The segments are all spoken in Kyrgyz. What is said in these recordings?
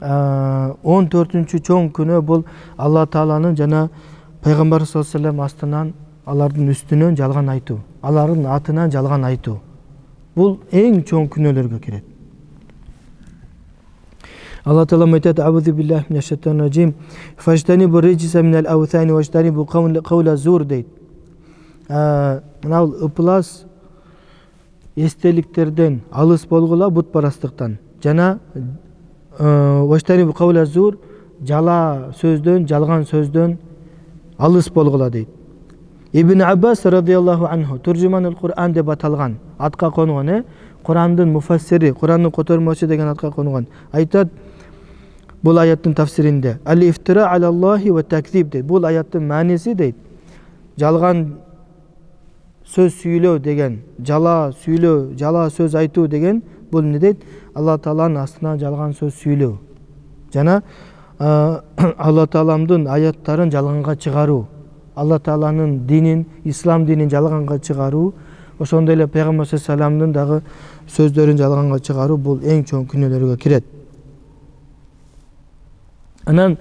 14-чү чоң күнөө бул Алла Тааланын жана пайгамбар саллаллаху алейхи вассалам астынан алардын үстүнөн жалган айтуу, алардын атынан жалган айтуу. Бул эң чоң күнөөлөргө кирет. Алла Таала айтат: "Аузу биллахи минаш шайтанир раджим. Фажтанибу риджса минал аутани важтанибу каула зур" дейт. Мына ыплас эстеликтерден алыс болгула бутпарастыктан. Жана важтанибу каула зур, жала сөздөн, жалган сөздөн алыс болгула дейт. Ибн Аббас радиаллаху анху туржуманул Кур'ан деп аталган, атка конгон, Кур'андын муфассири, Кур'андын котормочу деген атка конгон. Айтат бул аяттын тафсиринде: "Ал-ифтира алаллахи ва такзиб" дейт. Бул аяттын мааниси дейт, жалган сөз сүйлөө деген, жала сүйлөө, жала сөз айтуу деген бул эмне дейт? Алла Тааланын астына жалган сөз сүйлөө. Жана Алла Тааламдын аяттарын жалганга чыгаруу, Алла Тааланын динин, ислам динин жалганга чыгаруу, ошондой эле пайгамбар саллаллаху алейхи вассаламдын дагы сөздөрүн жалганга чыгаруу бул эң чоң күнөөлөргө кирет. Анан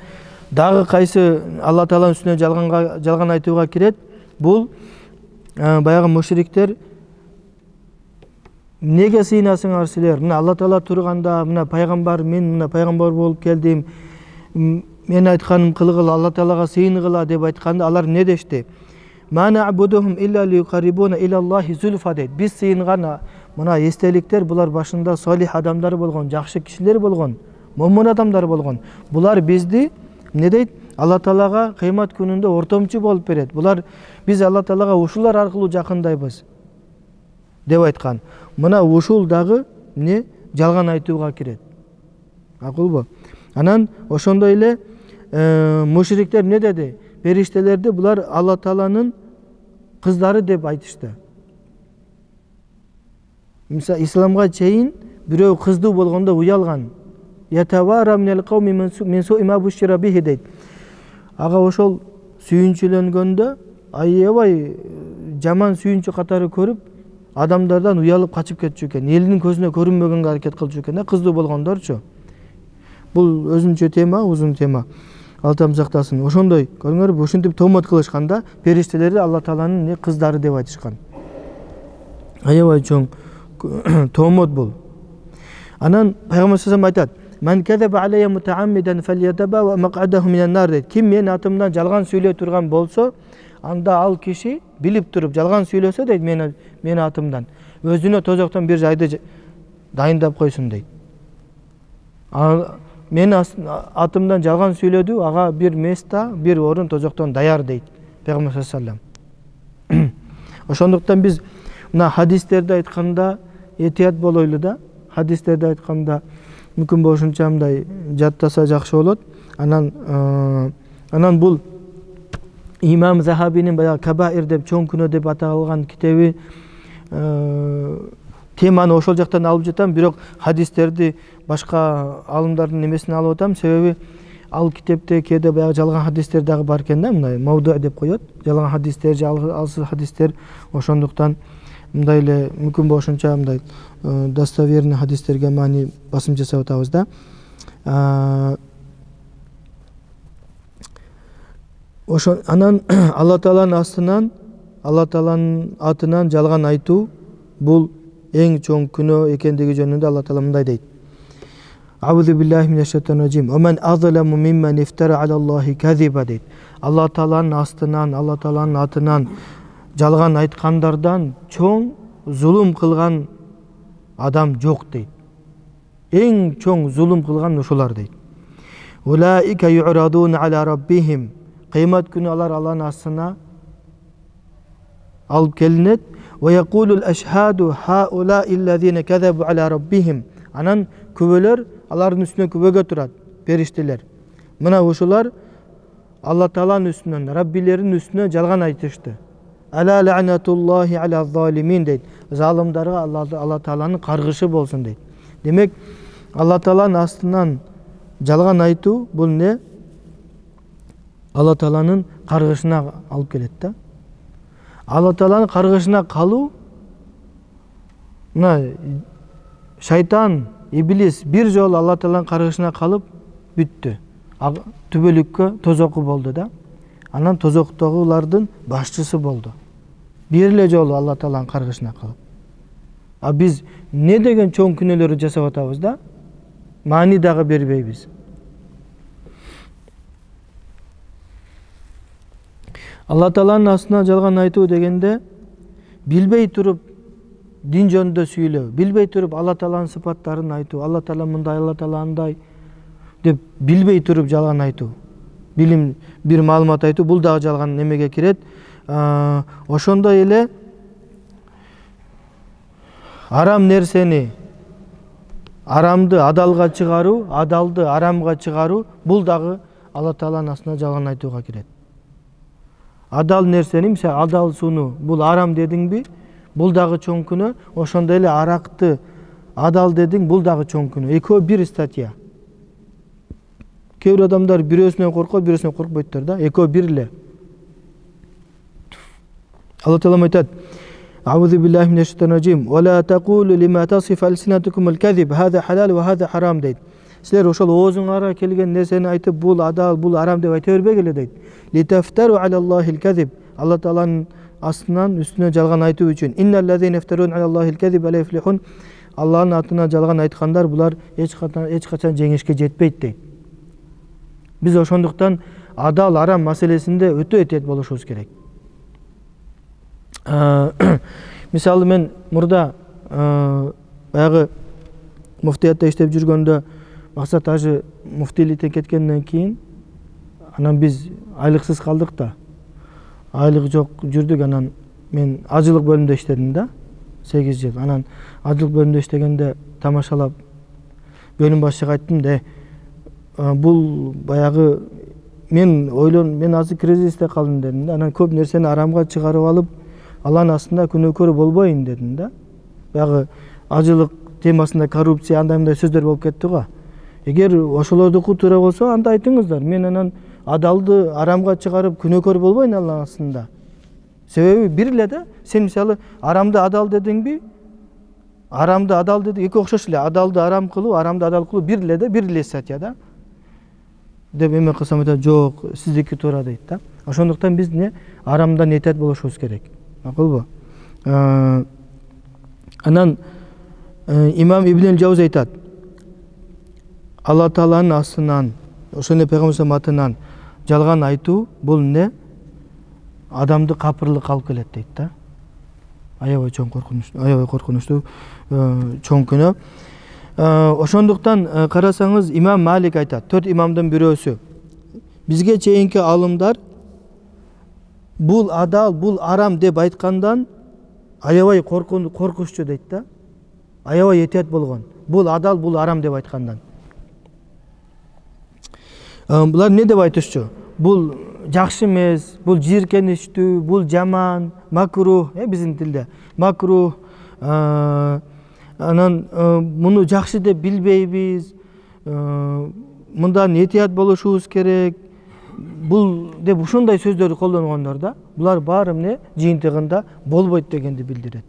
дагы кайсы Алла Тааланын үстүнө жалган айтууга кирет? Бул баягы мушриктер: "Неге сыйынасыңар силер? Мына Алла Таала турганда, мына пайгамбар, мен мына пайгамбар болуп келдим. Мен айтканым кылгыла, Алла Таалага сыйынгыла" деп айтканда алар не дешти? "Ма нa'будухум илля лиюқаррибуна илаллахи зульфа" дейт. Биз сыйынган мына эстеликтер булар башында солих адамдар болгон, жакшы кишилер болгон, момун адамдар болгон. Булар бизди эмне дейт? Алла Таалага кыямат күнүндө ортомчу болуп берет. Булар биз Алла Таалага ушулар аркылуу жакындайбыз деп айткан. Мына ушул дагы эмне? Жалган айтууга кирет. Акылбы? Анан ошондой эле мушриктер эмне деди? Периштелерди булар Алла Тааланын кыздары деп айтышты. Мисалы исламга чейин бирөө кыздуу болгондо уялган. "Ятавара минал кауми мин суи ма бушира бихи" дейт. Ага ошол сүйүнчүлөнгөндө аябай жаман сүйүнчү катары көрүп, адамдардан уялып качып кетчү экен. Элинин көзүнө көрүнбөгөнгө аракет кылчу экен, кыздуу болгондорчу. Бул өзүнчө тема, узун тема. Алла Таала сактасын. Ошондой, көрүңөрбү, ушинтип тоомот кылышканда периштелерди Алла Тааланын кыздары деп айтышкан. Аябай чоң тоомот бул. Анан пайгамбар саллаллаху алейхи ва саллям айтат: "Ман казаба алейя мутааммидан фальятаба мақ'адаху минан нар" дейт. Ким мен атымдан жалган сүйлөй турган болсо, анда ал киши билип туруп жалган сүйлөсө дейт мен атымдан, өзүнө тозоктон бир жайды дайындап койсун дейт. Мен атымдан жалган сүйлөдү, ага бир места, бир орун тозоктон даяр дейт пайгамбар саллаллаху алейхи ва саллям. Ошондуктан биз мына хадистерди айтканда этият болойлу да. Хадистерди айтканда мүмкүн болушунча мындай жаттаса жакшы болот. Анан бул Имам Захабинин баягы Кабаир деп чоң күнөө деп аталган китеби теманы ошол жактан алып жатам, бирок хадистерди башка алымдардын эмесине алып атам. Себеби ал китепте кээде баягы жалган хадистер дагы бар экен да, мындай мавду деп коет. Жалган хадистер же алсыз хадистер. Ошондуктан мындай эле мүмкүн болушунча мындай достоверный хадистерге маани басым жасап атабыз да. Анан Алла Тааланын астынан, Алла Тааланын атынан жалган айтуу бул эң чоң күнөө экендиги жөнүндө Алла Таала мындай дейт: "Аузу биллахи минаш шайтанир раджим. Ва ман азламу мимман ифтара алаллахи казиба" дейт. Алла Тааланын астынан, Алла Тааланын атынан жалган айткандардан чоң зулум кылган адам жок дейт. Эң чоң зулум кылган ушулар дейт. "Улаика ю'радуна ала раббихим" Кыямат күнү алар Алланын астына алып келинет. "Ва якулул ашхаду хаула иллазина казабу ала раббихим" Анан күбөлөр алардын үстүнө күбөгө турат, периштелер. Мына ушулар Алла Тааланын үстүнөн, Раббилеринин үстүнө жалган айтышты. "Ала ла'натуллахи ала залимин" дейт. Залымдарга Алла Тааланын каргышы болсун дейт. Демек, Алла Тааланын астынан жалган айтуу бул не? Алла Тааланын каргышына алып келет да. Алла Тааланын каргышына калуу, мына шайтан, иблис бир жолу Алла Тааланын каргышына калып, бүттү. Түбөлүккө тозоку болду да. Анан тозоктогулардын башчысы болду. Бир эле жолу Алла Тааланын каргышына калып. А биз не деген чоң күнөөлөрдү жасап атабыз да? Маани дагы бербейбиз. Алла Тааланын астына жалган айтуу дегенде билбей туруп дин жөнүндө сүйлөө, билбей туруп Алла Тааланын сыпаттарын айтуу, Алла Таала мындай, Алла Таала андай деп билбей туруп жалган айтуу. Билим бир маалымат айтуу, бул дагы жалган немеге кирет. Ошондой эле арам нерсени арамды адалга чыгаруу, адалды арамга чыгаруу, бул дагы Алла Тааланын астына жалган айтууга кирет. Адал нерсени, мисалы адал сууну, бул арам дедиңби, бул дагы чоң күнөө. Ошондой эле аракты адал дедиң, бул дагы чоң күнөө. Экөө бир статья. Кээ бир адамдар бирөөсүнөн коркот, бирөөсүнөн коркпойттор да. Экөө бир эле. Алла Таала айтат: "Аузу биллахи минеш шайтанир раджим. Ва ла тaqulu лима тасиф алсинатукум алказиб, хаза халал ва хаза харам" дейт. Силер ошол оозуңарга келген нерсени айтып, бул адал, бул арам деп айта бербегиле дейт. Литафтару алаллахил казиб. Алла Тааланын астынан үстүнө жалган айтуу үчүн. Инналлазина яфтарун алаллахил казиб ла юфлихун. Алланын атына жалган айткандар булар эч качан жеңишке жетпейт дейт. Биз ошондуктан адал арам маселесинде өтө этет болушубуз керек. Мисалы мен мурда баягы муфтиятта иштеп жүргөндө Максат ажы муфтийликтен кеткенден кийин анан биз айлыксыз калдык да. Айлык жок жүрдүк. Анан мен ажылык бөлүмдө иштедим да 8 жыл. Анан ажылык бөлүмдө иштегенде тамашалап бөлүм башчыга айттым да, бул баягы мен азыр кризисте калдым дедим да. Анан көп нерсени арамга чыгарып алып, Алланын астында күнөөкөр болбойн дедим да. Баягы ажылык темасында коррупция андай сөздөр болуп кетти го. Эгер ошолордуку туура болсо, анда айтыңыздар. Мен анан адалды арамга чыгарып күнөөкөр болбойн Алланын астында. Себеби бир эле да. Сен мисалы арамды адал дедиңби? Арамды адал деди, эки окшош эле. Адалды арам кылуу, арамды адал кылуу бир эле да, бир эле статья да. Деп эме кылсам айтат, жок, сиздики туура дейт да. Ошондуктан биз арамдан этет болушубуз керек. Макулбу? Анан имам Ибн Жаузи айтат: Алла Тааланын астынан, ошоне пайгамбар атынан жалган айтуу бул адамды капырлык алып келет дейт да. Аябай чоң коркунучтуу чоң күнөө. Ошондуктан карасаңыз, имам Малик айтат, 4 имамдын бирөөсү: бизге чейинки алымдар бул адал, бул арам деп айткандан аябай коркунуччу дейт да. Аябай этет болгон. Бул адал, бул арам деп айткандан. Булар не деп айтышчу? Бул жакшы эмес, бул жийиркеничтүү, бул жаман, макрух, биздин тилде. Макрух, анан муну жакшы деп билбейбиз. Мындан этият болушубуз керек. Бул деп ушундай сөздөрдү колдонгондор да. Булар баары жыйынтыгында болбойт дегенди билдирет.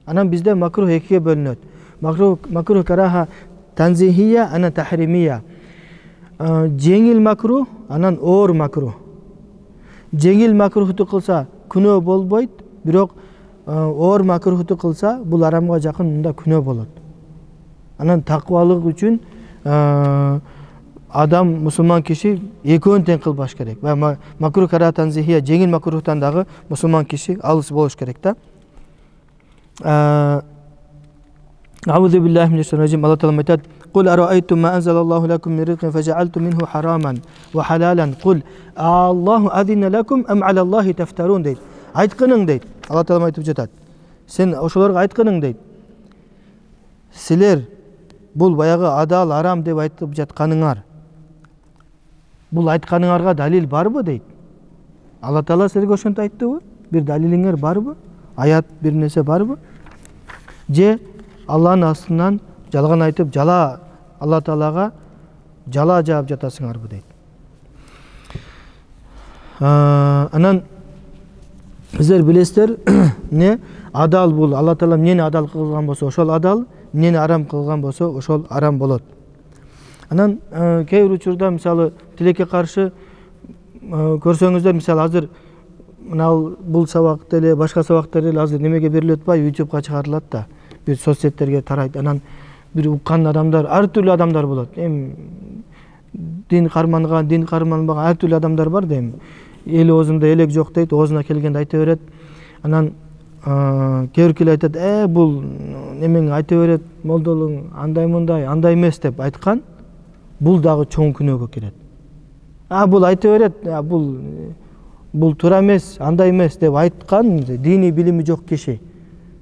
Анан бизде макрух экиге бөлүнөт. Макрух караха танзихия, анан тахримия. Жеңил макрух, анан оор макрух. Жеңил макрухту кылса күнөө болбойт, бирок оор макрухту кылса бул арамга жакын, мында күнөө болот. Анан такыбалык үчүн адам, мусулман киши экөөнү тең кылбаш керек. Макрух караха танзихия, жеңил макрухтан дагы мусулман киши алыс болуш керек да. Аузу биллахи минеш шайтанир раджим. Алла Таала айтат: "Кул араайтум ма анзалаллаху лакум мин ризқин фажаалтум минху хараман ва халалан. Кул Аллаху азина лакум ам алаллахи тафтарун" дейт. Айткының дейт. Алла Таала айтып жатат. Сен ошолорго айткының дейт. Силер бул баягы адал, арам деп айтып жатканыңар, бул айтканыңарга далил барбы дейт. Алла Таала силерге ошентип айттыбы? Бир далилиңер барбы? Аят бир нерсе барбы? Же Алланын астынан жалган айтып, Алла Таалага жала жаап жатасыңарбы дейт. Анан силер билесиздер, адал бул Алла Таала эмнени адал кылган болсо, ошол адал, эмнени арам кылган болсо, ошол арам болот. Анан кээ бир учурда мисалы тилекке каршы көрсөңүздөр, мисалы азыр мына бул сабак деле башка сабактар деле азыр немеге берилип атпайбы, YouTubeга чыгарылат да, бир соц сеттерге тарайт. Анан бир уккан адамдар, ар түрдүү адамдар болот. Эми дин карманбаган ар түрдүү адамдар бар да, эми эл оозунда элек жок дейт, оозуна келгенде айта берет. Анан кээ биркилер айтат, бул немең айта берет, молдолуң андай мындай, андай эмес деп айткан, бул дагы чоң күнөөгө кирет. Бул айта берет, бул туура эмес, андай эмес деп айткан диний билими жок киши.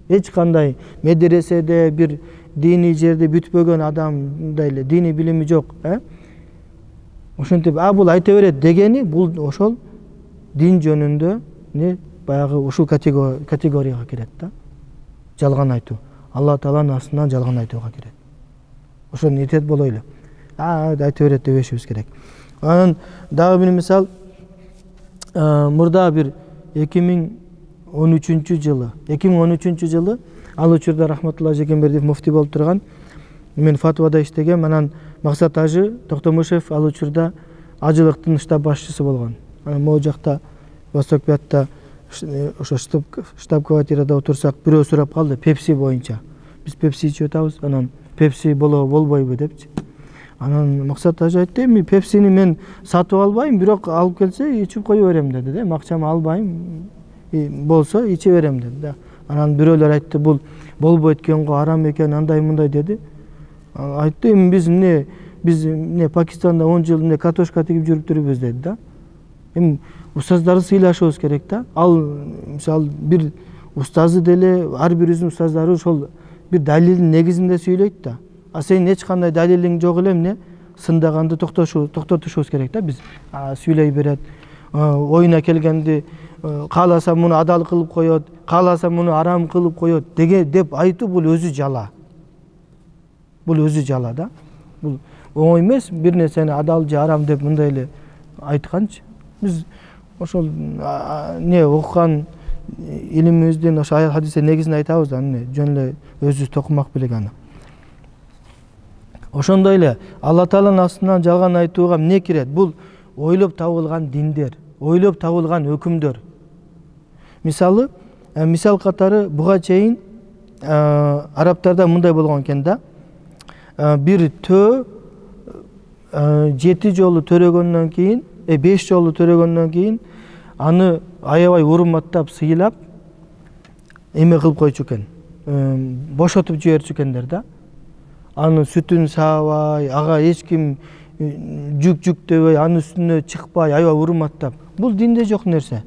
Эч кандай медреседе, бир диний жерде бүтпөгөн адамдай эле диний билими жок, ошентип бул айта берет дегени, бул ошол дин жөнүндө баягы ушул категорияга кирет да. Жалган айтуу. Алла Тааланын астынан жалган айтууга кирет. Ошону этет болойлу. Айта берет дебешибиз керек. Анан дагы бир мисал, мурда бир 2013 жылы ал учурда Рахматулла Жекенбердиев муфти болуп турган, мен фатвада иштегем. Анан Максат Ажы Токтомушев ал учурда ажылыктын штаб башчысы болгон. Анан могу жакта Востокбиятта ошо штаб-квартирада отурсак, бирөө сурап калды пепси боюнча. Биз пепси ичип атабыз, анан пепси болбойбу депчи. Анан Максат Ажы айтты, эми пепсини мен сатып албайм, бирок алып келсе ичип кое берем деди да. Акчамы албайм, болсо иче берем деди да. Анан бирөөлөр айтты, бул болбойт экен го, арам экен, андай мындай деди. Айтты, эми биз Пакистанда 10 жыл картошка тигип жүрүптүрбүз деди да. Эми устаздарды сыйлашыбыз керек да. Ал мисалы бир устазы деле, ар бирибиздин устаздары ошол бир далилдин негизинде сүйлөйт да. Сенин эч кандай далилиң жок эле, сындаганды токтотушубуз керек да. Биз сүйлөй берет, оюна келгенди кааласа муну адал кылып коет, кааласа муну арам кылып коет деп айтуу, бул өзү жала. Бул өзү жала да. Бул оңой эмес, бир нерсени адал же арам деп мындай эле айтканчы. Биз ошол окуган илимибиздин ошо аят хадистер негизин айтабыз да, жөн эле өзүбүз токумак белек аны. Ошондой эле Алла Тааланын астынан жалган айтууга эмне кирет? Бул ойлоп табылган диндер, ойлоп табылган өкүмдөр. Мисалы, мисал катары буга чейин арабтарда мындай болгон экен да. Бир төө 7 жолу төрөгөндөн кийин, 5 жолу төрөгөндөн кийин аны аябай урматтап, сыйлап эме кылып койчу экен. Бошотуп жиберчү экендер да. Анын сүтүн саабай, ага эч ким жүктөбөй, анын үстүнө чыкпай, аябай урматтап. Бул динде жок нерсе.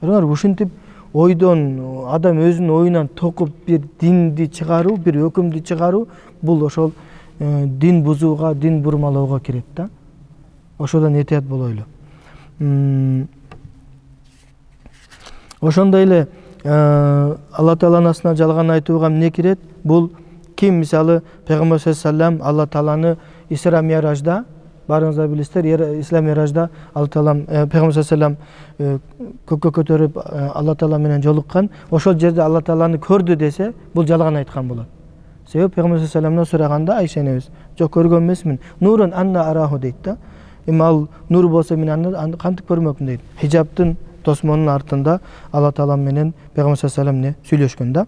Ушинтип ойдон адам өзүнүн оюнан токуп бир динди чыгаруу, бир өкүмдү чыгаруу, бул ошол дин бузууга, дин бурмалоого кирет да. Ошодон этият болойлу. Ошондой эле Алла Тааланын астынан жалган айтууга эмне кирет? Бул ким мисалы Пайгамбар саллаллаху алейхи ва саллям Алла Тааланы Исра Миражда, барыңыздар билесиздер, Исра Миражда Алла Таалам Пайгамбар саллаллаху алейхи ва саллям көккө көтөрүп Алла Таала менен жолуккан, ошол жерде Алла Тааланы көрдү десе, бул жалган айткан болот. Себеби Пайгамбар саллаллаху алейхи ва саллямдан сураганда Айша энебиз, жок көргөн эмесмин, нурун анна араху дейт да. Эми ал нур болсо мен аны кантип көрмөкмүн дейт. Хижаптын тосмонун артында Алла Таала менен Пайгамбар саллаллаху алейхи ва саллям сүйлөшкөн да.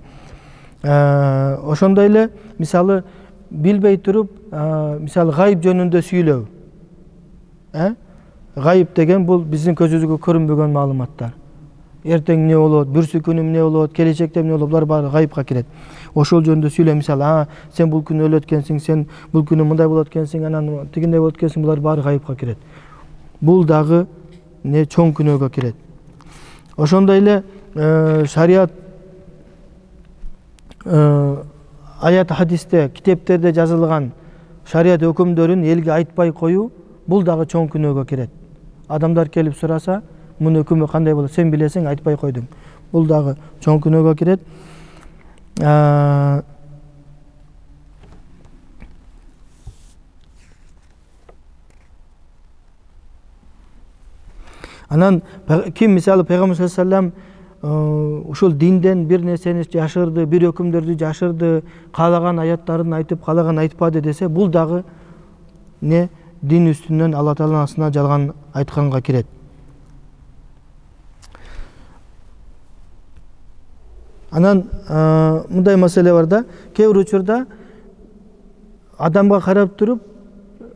Ошондой эле мисалы билбей туруп, мисалы гайып жөнүндө сүйлөө. Гайып деген бул биздин көзүбүзгө көрүнбөгөн маалыматтар. Эртең эмне болот, бүрсү күнү эмне болот, келечекте эмне болот, булар баары гайыпка кирет. Ошол жөнүндө сүйлөө, мисалы, сен бул күнү өлөт экенсиң, сен бул күнү мындай болот экенсиң, анан тигиндей болот экенсиң, булар баары гайыпка кирет. Бул дагы чоң күнөөгө кирет. Ошондой эле шарият аят хадисте, китептерде жазылган шарият өкүмдөрүн элге айтпай коюу, бул дагы чоң күнөөгө кирет. Адамдар келип сураса, мунун өкүмү кандай болот, сен билесиң, айтпай койдуң. Бул дагы чоң күнөөгө кирет. Анан ким мисалы Пайгамбар саллаллаху алейхи ва саллям ушул динден бир нерсени жашырды, бир өкүмдөрдү жашырды, каалаган аяттарын айтып, каалаган айтпады десе, бул дагы не дин үстүнөн Алла Тааланын астына жалган айтканга кирет. Анан мындай маселе бар да, кээ бир учурда адамга карап туруп,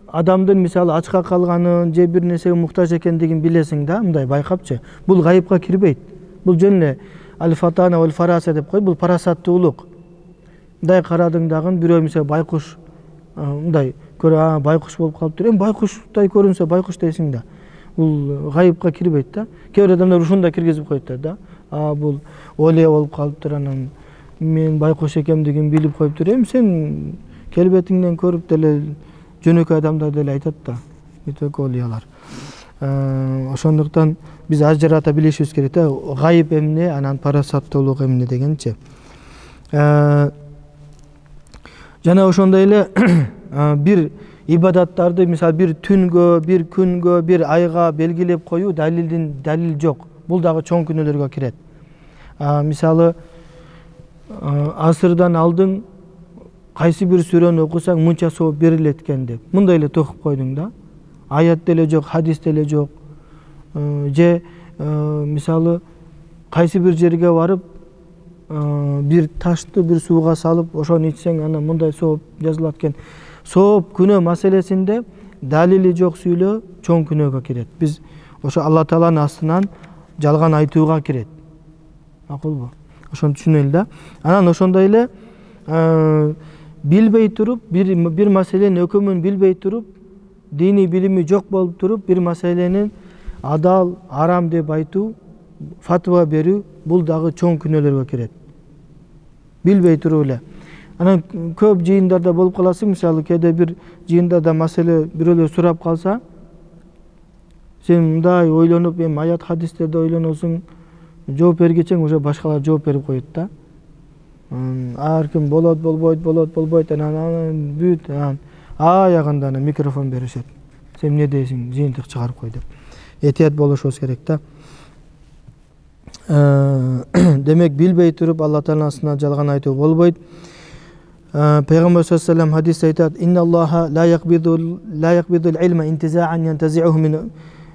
адамдын мисалы ачка калганын же бир нерсеге муктаж экендигин билесиң да, мындай байкапчы. Бул гайыпка кирбейт. Бул жөн эле аль-фатана вал фараса деп коет, бул парасаттуулук. Мындай карадың дагы бирөө мисалы байкуш мындай көрө, байкуш болуп калыптыр. Байкуштай көрүнсө байкуш дейсиң да. Бул гайыпка кирбейт да. Кээ бир адамдар ушундай киргизип коет да. Бул олия болуп калыптыр, анан мен байкуш экендигин билип коюптур. Сен келбетиңден көрүп деле жөнөкөй адамдар деле айтат да. Бүтөк олиялар. Ошондуктан биз ажырата билишибиз керек да. Гайып эмне, анан парасаттуулук эмне дегенчи. Жана ошондой эле бир ибадаттарды мисалы бир түнгө, бир күнгө, бир айга белгилеп коюу далил жок. Бул дагы чоң күнөөлөргө кирет. Мисалы асырдан алдың кайсы бир сүрөнү окусаң мынча сооп берилет экен деп. Мындай эле токуп койдуң да. Аят деле жок, хадис деле жок. Же мисалы кайсы бир жерге барып бир ташты бир сууга салып, ошону ичсең анан мындай сооп жазылат экен. Сооп күнөө маселесинде далили жок сүйлөө чоң күнөөгө кирет. Биз ошо Алла Тааланын астынан жалган айтууга кирет. Макулбу? Ошону түшүнөлү да. Анан ошондой эле билбей туруп, бир маселенин өкүмүн билбей туруп, дини билими жок болуп туруп, бир маселенин адал, арам деп айтуу, фатва берүү, бул дагы чоң күнөөлөргө кирет. Билбей туруп эле. Анан көп жыйындарда болуп каласың, мисалы кээде бир жыйындарда маселе бирөөлөр сурап калса, сен мындай ойлонуп, аят хадистерди ойлоносуң, жооп бергечең уже башкалар жооп берип коет да. Ар ким болот, болбойт, анан бүт, аягында микрофон беришет. Сен эмне дейсиң, жыйынтык чыгарып кой деп. Этият болушубуз керек да. Демек билбей туруп Алла Тааланын астына жалган айтуу болбойт. Пейгамбер саллаллаху алейхи ва саллям хадисте айтат: "Инналлаха ла якбидул илма интизаан янтазиуху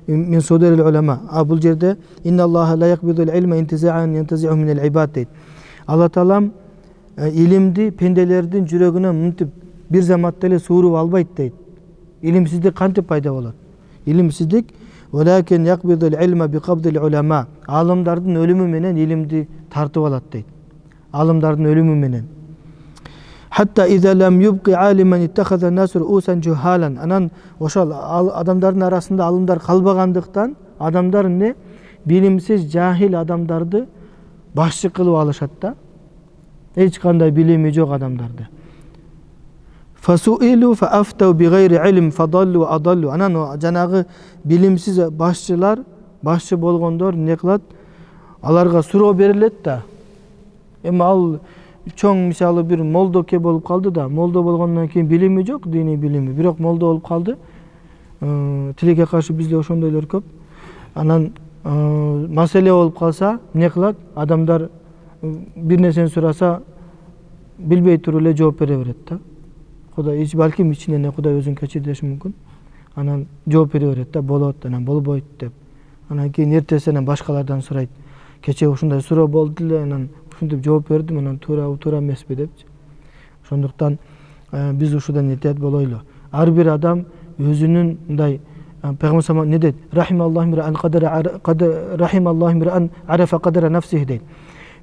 мин судурил улама." Бул жерде "Инналлаха ла якбидул илма интизаан янтазиуху мин ал-ибад" дейт. Алла Таалам илимди пенделердин жүрөгүнөн мынтип бир заматта эле сууруп албайт дейт. Илимсиздик кантип пайда болот? Илимсиздик "Валакин якбидул илма биқабдил улама." Алымдардын өлүмү менен илимди тартып алат дейт. Алымдардын өлүмү менен. Hatta iza lam yubqi aliman ittakhadha an-nas ru'usan juhalan. Анан ошол адамдардын арасында алымдар калбагандыктан адамдар эмне? Билимсиз, жахил адамдарды башчы кылып алышат да. Эч кандай билими жок адамдарды. Fasu'ilu fa'aftau bighayri ilm fadallu wa adallu. Анан жанагы билимсиз башчылар, башчы болгондор эмне кылат? Аларга суроо берилет да. Ал чоң мисалы бир молдоке болуп калды да, молдо болгондон кийин билими жок, дини билими, бирок молдо болуп калды. Тилекке каршы бизде ошондойлор көп. Анан маселе болуп калса, эмне кылат? Адамдар бир нерсени сураса, билбей туруп эле жооп бере берет да. Кудай балким ичинен Кудай өзүн кечирдеши мүмкүн. Анан жооп бере берет да, болот, анан болбойт деп. Анан кийин эртесинен башкалардан сурайт. Кече ушундай суроо болду эле, анан ушинтип жооп бердим, анан туура эмеспи депчи. Ошондуктан биз ушудан этият болойлу. Ар бир адам өзүнүн мындай Пейгамбер саллаллаху алейхи ва саллям не дейт? Рахималлаху миран арафа кадра нафсихи дейт.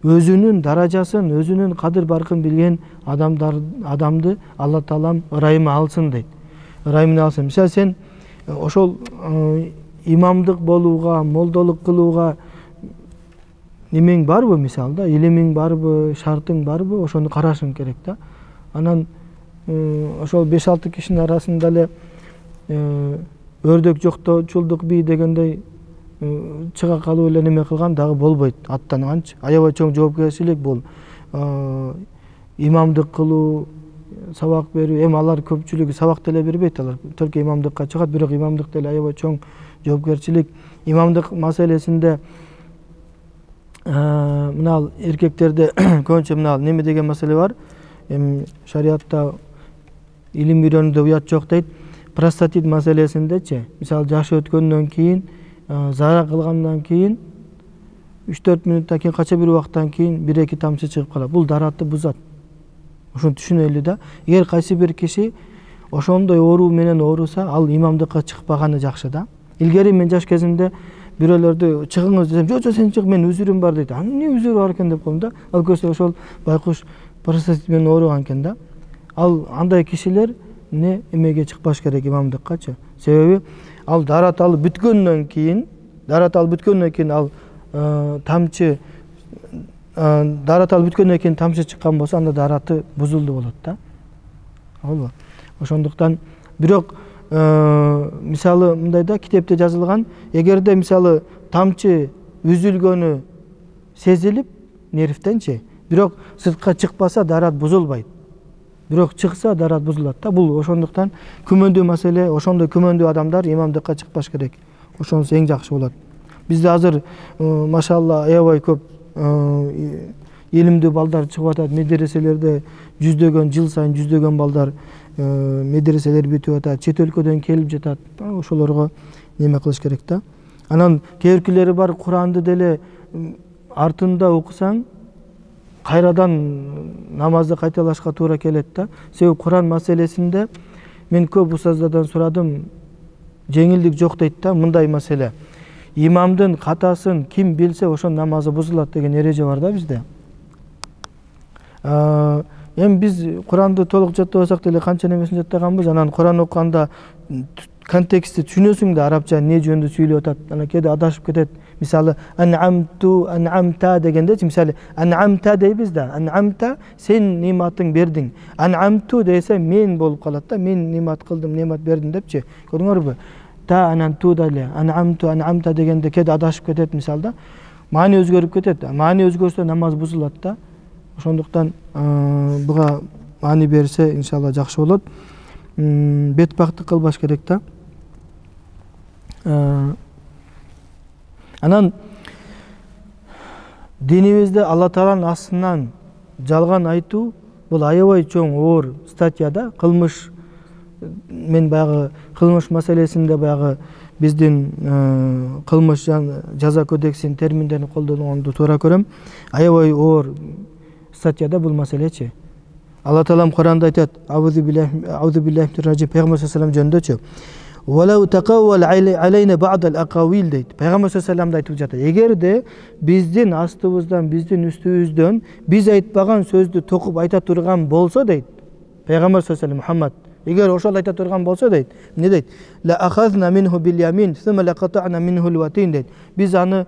Өзүнүн даражасын, өзүнүн кадыр баркын билген адамды Алла Таалам ырайымы алсын дейт. Ырайымын алсын. Мисалы сен ошол имамдык болууга, молдолук кылууга немең барбы мисалы да, илимиң барбы, шартың барбы, ошону карашың керек да. Анан ошол 5-6 кишинин арасында эле өрдөк жокточулдук бий дегендей чыга калып эле неме кылган дагы болбойт, аттанганчы. Аябай чоң жоопкерчилик бул. Имамдык кылуу, сабак берүү, алар көпчүлүгү сабак деле бербейт, алар только имамдыкка чыгат, бирок имамдык деле аябай чоң жоопкерчилик. Имамдык маселесинде мына эркектерде көбүнчө мына неме деген маселе бар. Шариатта илим үйрөнүүдө уят жок дейт. простатит маселесиндечи, мисалы жашы өткөндөн кийин, зара кылгандан кийин 3-4 мүнөттөн кийин, кача бир убакыттан кийин 1-2 тамчы чыгып калат. Бул даратты бузат. Ошону түшүнөлү да. Эгер кайсы бир киши ошондой оору менен ооруса, ал имамдыкка чыкпаганы жакшы да. Илгери мен жаш кезимде бирөөлөрдү чыгыңыз десем, жок сен чык, мен үзүрүм бар дейт. Эмне үзүрү бар экен деп коем да. Ал көрсө ошол байкуш простатит менен ооруган экен да. Ал андай кишилер эмеге чыкпаш керек, имамдыккачы. Себеби ал дарат алып бүткөндөн кийин ал тамчы чыккан болсо, анда дараты бузулду болот да. Албы. Ошондуктан бирок мисалы мындай да, китепте жазылган, эгерде мисалы тамчы үзүлгөнү сезилип нервтенчи, бирок сыртка чыкпаса дарат бузулбайт. Бирок чыкса дарат бузулат да. Бул ошондуктан күмөндүү маселе, ошондой күмөндүү адамдар имамдыкка чыкпаш керек. Ошонусу эң жакшы болот. Бизде азыр машалла аябай көп илимдүү балдар чыгып атат. Медреселерде жүздөгөн, жыл сайын жүздөгөн балдар медреселер бүтүп атат, чет өлкөдөн келип жатат. Ошолорго неме кылыш керек да. Анан кээбиркилери бар, Куранды деле артында окусаң, кайрадан намазды кайталашка туура келет да. Себеби Куран маселесинде мен көп устаздардан сурадым, жеңилдик жок дейт да. Мындай маселе: имамдын катасын ким билсе, ошонун намазы бузулат деген эреже бар да бизде. Эми биз Куранды толук жаттабасак деле канча немесин жаттаганбыз. Анан Куран окуганда контекстти түшүнөсүң да, арабча эмне жөнүндө сүйлөп атат. Анан кээде адашып кетет. Мисалы ан'амта дегенде, мисалы ан'амта дейбиз да. Ан'амта сен нематың бердиң. Ан'амту десе мен болуп калат да. Мен немат кылдым, немат бердим депчи. Көрдүңөрбү? Та ананту деле ан'амту ан'амта дегенде кээде адашып кетет мисалда. Маани өзгөрүп кетет. Маани өзгөрсө намаз бузулат да. Ошондуктан буга маани берсе иншалла жакшы болот. Бетпактык кылбаш керек да. Анан динибизде Алла Тааланын астынан жалган айтуу бул аябай чоң оор статья да. Кылмыш, мен баягы кылмыш маселесинде баягы биздин кылмыш жаза кодексинин терминдерин колдонгонду туура көрөм. Аябай оор статьяда бул маселечи. Алла Таалам Куранда айтат: "Аузу биллахи минар ражим", Пайгамбар саллаллаху алейхи жөнүндөчү. "Валау тaqawwal алейна бa'd al-aqawil" дейт. Пайгамбар саллаллаху алейхи айтып жатат: эгерде биздин астыбыздан, биздин үстүбүздөн биз айтпаган сөздү токуп айта турган болсо дейт. Пайгамбар саллаллаху алейхи Мухаммад эгер ошол айта турган болсо дейт, эмне дейт? "Ла ахазна минху бил ямин, сумма лaqata'na минху al-watin" дейт. Биз аны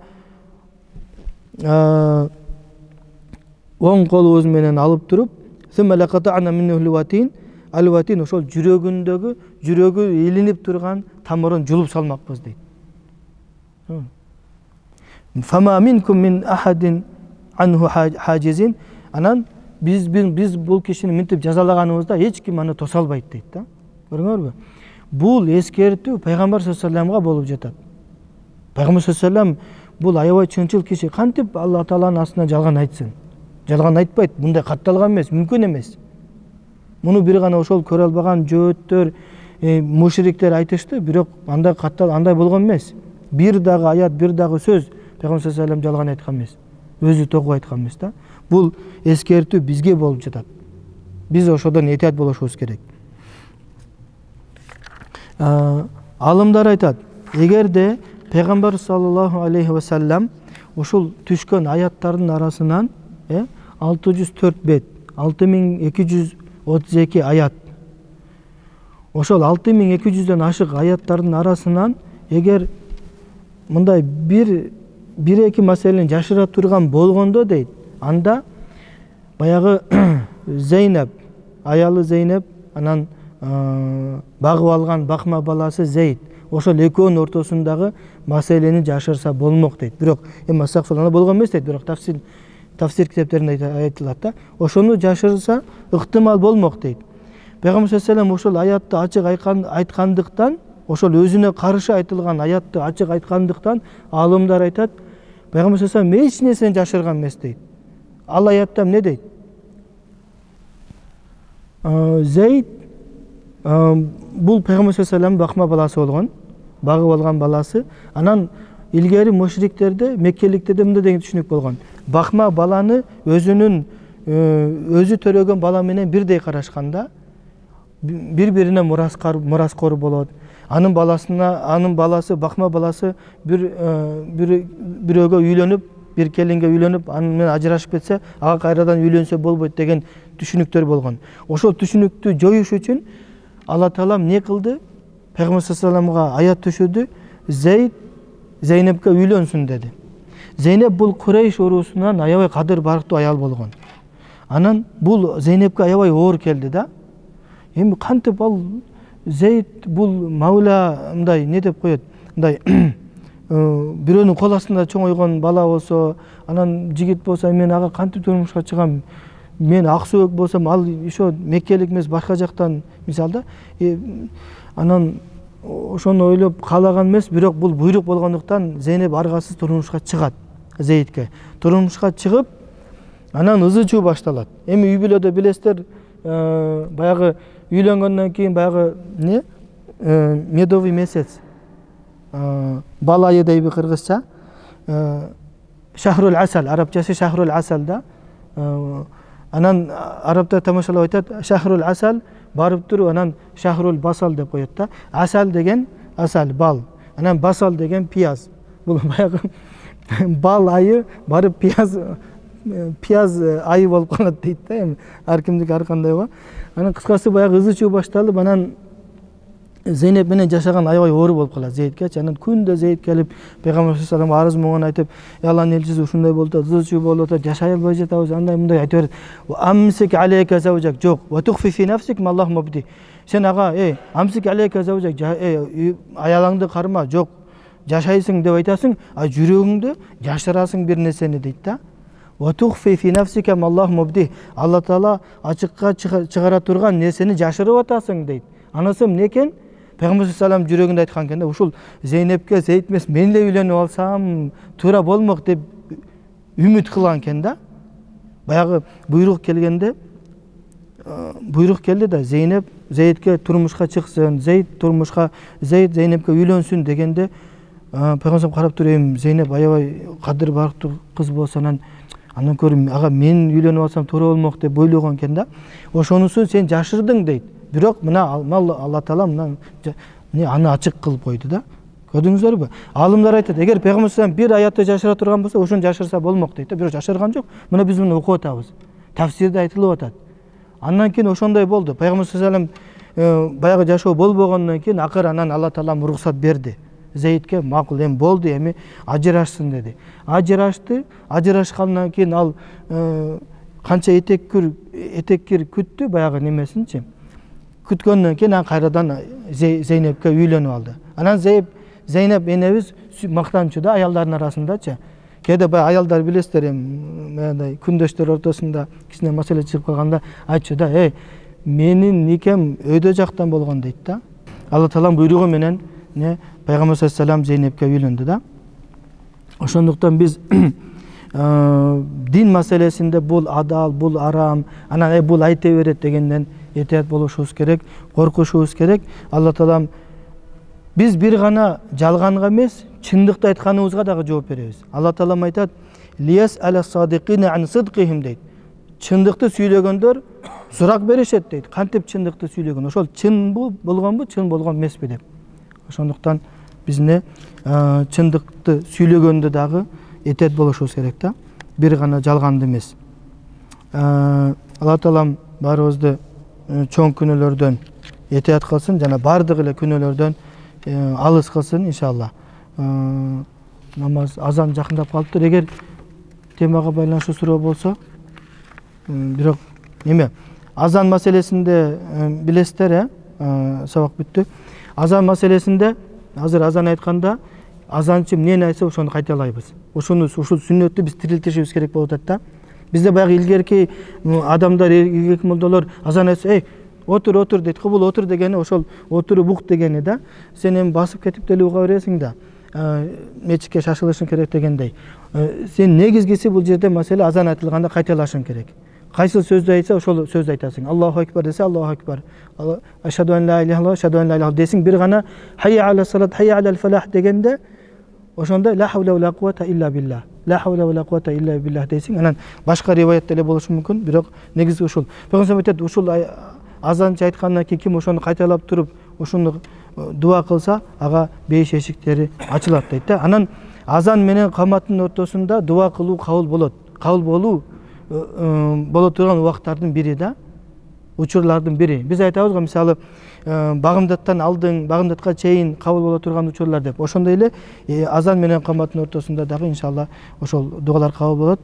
оң колубуз менен алып туруп, "Сумма лaqata'na минху al-watin", al-watin ошол жүрөгүндөгү, жүрөгү илинип турган тамырын жулуп салмакпыз дейт. "Фама минкум мин ахадин анху хажизин", анан биз бул кишини минтип жазалаганыбызда эч ким аны тоса албайт дейт да. Көрдүңөрбү? Бул эскертүү Пайгамбар саллаллаху алейхи вассаламга болуп жатат. Пайгамбар саллаллаху алейхи вассалам бул аябай чынчыл киши. Кантип Алла Тааланын астынан жалган айтсын? Жалган айтпайт, мындай катталган эмес, мүмкүн эмес. Муну бир гана ошол көрө албаган жөөттөр, мушриктер айтышты, бирок андай болгон эмес. Бир дагы аят, бир дагы сөз Пайгамбар саллаллаху алейхи вассалам жалган айткан эмес. Өзү токуп айткан эмес да. Бул эскертүү бизге болуп жатат. Биз ошодон этият болушубуз керек. Алымдар айтат: эгерде Пайгамбар саллаллаху алейхи вассалам ошол түшкөн аяттардын арасынан 604 бет, 6232 аят. Ошол 6200дөн ашык аяттардын арасынан эгер мындай бир-эки маселени жашыра турган болгондо дейт, анда баягы Зейнеп, аялы Зейнеп, анан багып алган бакма баласы Зейд, ошол экөөнүн ортосундагы маселени жашырса болмок дейт. Бирок эми астагфирулла болгон эмес дейт, бирок тафсир китептеринде айтылат да. Ошону жашырса ыктымал болмок дейт. Пайгамбар саллаллаху алейхи вассалам ошол аятты ачык айткандыктан, ошол өзүнө каршы айтылган аятты ачык айткандыктан алымдар айтат, Пайгамбар саллаллаху алейхи вассалам эч нерсени жашырган эмес дейт. Ал аятта эмне дейт? Зейд бул пайгамбар саллаллаху алейхи вассалам бакма баласы болгон, багып алган баласы. Анан илгери мушриктерде, меккеликтерде мындай деген түшүнүк болгон. Бакма баланы өзү төрөгөн бала менен бирдей карашканда бири-бирине мураскор болот. Анын баласы, бакма баласы бирөөгө үйлөнүп, бир келинге үйлөнүп, анын менен ажырашып кетсе, ага кайрадан үйлөнсө болбойт деген түшүнүктөр болгон. Ошол түшүнүктү жоюш үчүн Алла Таала эмне кылды? Пайгамбар саллаллаху алейхи вассаламга аят түшүрдү. Зейнепке үйлөнсүн деди. Зейнеп бул Курейш уруусунан аябай кадыр барктуу аял болгон. Анан бул Зейнепке аябай оор келди да. Эми кантип ал Зейд бул Маула мындай не деп коет? Мындай бирөөнүн кол астында чоңойгон бала болсо, анан жигит болсо, мен ага кантип турмушка чыгам? Мен аксөөк болсом, ал ошо меккелик эмес, башка жактан мисалда. Анан ошону ойлоп каалаган эмес, бирок бул буйрук болгондуктан Зейнеп аргасыз турмушка чыгат Зейдке. Турмушка чыгып, анан ызы-чуу башталат. Эми үй бүлөдө билесиздер, баягы үйлөнгөндөн кийин баягы медовый месяц, бал айы дейби кыргызча, шахрул асал, арабчасы шахрул асал да. Анан арабтар тамашалап айтат, шахрул асал барып туруп, анан шахрул басал деп коет да. Асал деген асал, бал. Анан басал деген пияз. Бул баягы бал айы барып пияз айы болуп калат дейт да. Эми ар кимдики ар кандай го. Анан кыскасы баягы ызы-чуу башталып, анан Зейнеп менен жашаган аябай оор болуп калат Зейдке. Анан күндө Зейд келип пайгамбар саллаллаху алейхи вассаламга арыз муңун айтып, Алланын элчиси ушундай болуп атат, ызы-чуу болуп атат, жашай албай жатабыз, андай мындай айтып берет. Амсик алейка заужак, жок. Ва тухфи фи нафсик маллах мубди. Сен ага, амсик алейка заужак, аялыңды карма, жок. Жашайсың деп айтасың, а жүрөгүңдө жашырасың бир нерсени дейт да. Ва тухфи фи нафсика маллах мубди. Алла Таала ачыкка чыгара турган нерсени жашырып атасың дейт. Анысы эмне экен? Пайгамбар саллаллаху алейхи жүрөгүндө айткан экен да, ушул Зейнепке Зейд эмес, мен эле үйлөнүп алсам туура болмок деп үмүт кылган экен да. Баягы буйрук келди да, Зейнеп Зейдке турмушка чыксын, Зейд Зейнепке үйлөнсүн дегенде, пайгамбар карап туруп, Зейнеп аябай кадыр барктуу кыз болсо, анан көрүм, ага мен үйлөнүп алсам туура болмок деп ойлогон экен да. Ошонусун сен жашырдың дейт. Бирок мына Алла Таала аны ачык кылып койду да. Көрдүңүздөрбү? Алымдар айтат, эгер пайгамбар саллаллаху алейхи вассалам бир аятты жашыра турган болсо, ошону жашырса болмок дейт да. Бирок жашырган жок. Мына биз муну окуп атабыз. Тафсирде айтылып атат. Андан кийин ошондой болду. Пайгамбар саллаллаху алейхи вассалам баягы жашоо болбогондон кийин акыр анан Алла Таала уруксат берди. Зейдке макул, эми болду, эми ажырашсын деди. Ажырашты. Ажырашкандан кийин ал канча этеккир күттү, баягы немесинчи. Күткөндөн кийин анан кайрадан Зейнепке үйлөнүп алды. Анан Зейнеп энебиз мактанчу да аялдардын арасындачы. Кээде баягы аялдар билесиздер, мындай күндөштөр ортосунда кичине маселе чыгып калганда айтчу да, менин никем өйдө жактан болгон дейт да. Алла Тааланын буйругу менен пайгамбар саллаллаху алейхи вассалам Зейнепке үйлөндү да. Ошондуктан биз дин маселесинде бул адал, бул арам, анан бул айта берет дегенден этият болушубуз керек, коркушубуз керек. Алла Таалам биз бир гана жалганга эмес, чындыкты айтканыбызга дагы жооп беребиз. Алла Таалам айтат: "Лияс ала-садиқина ан сидқихим" дейт. Чындыкты сүйлөгөндөр сурак беришет дейт. Кантип чындыкты сүйлөгөн? Ошол чын болгонбу, чын болгон эмеспи деп. Ошондуктан биз чындыкты сүйлөгөндө дагы этият болушубуз керек да. Бир гана жалганды эмес. Алла Таалам баарыбызды чоң күнөөлөрдөн этият кылсын, жана бардык эле күнөөлөрдөн алыс кылсын иншалла. Намаз азан жакындап калыптыр. Эгер темага байланыштуу суроо болсо, бирок азан маселесинде билесиздер, сабак бүттү. Азан маселесинде азыр азан айтканда азанчы эмнени айтса ошону кайталайбыз. Ушул сүннөттү биз тирилтишибиз керек болуп атат да. Бизде баягы илгерки адамдар, илгерки молдолор азан айтса, отур дейт. Кубул отур дегени ошол отуруп ук дегени да. Сен эми басып кетип деле уга бересиң да. Мечитке шашылышың керек дегендей. Сен негизгиси бул жерде маселе азан айтылганда кайталашың керек. кайсыл сөздү айтса ошол сөздү айтасың. Аллаху акбар десе Аллаху акбар. Ашхаду ан ла иляха илlalloh, ашхаду ан ла иляха десең, бир гана хайя аля салат, хайя аля фалах дегенде ошондо ла хавла ва ла куввата илля билlah. Ла хавла ва ла куввата илля билlah десең, анан башка риваятта эле болушу мүмкүн, бирок негизи ушул. Пайгамбар айтат, ушул азанчы айткандан кийин ким ошону кайталап туруп, ошону дуа кылса, ага бейиш эшиктери ачылат дейт да. Анан азан менен каматтын ортосунда дуа кылуу кабыл болот. Кабыл болуу боло турган убакыттардын бири да, учурлардын бири. Биз айтабыз го, мисалы, багымдаттан алдың, багымдатка чейин кабыл боло турган учурлар деп. Ошондой эле азан менен каматтын ортосунда дагы иншалла ошол дуалар кабыл болот.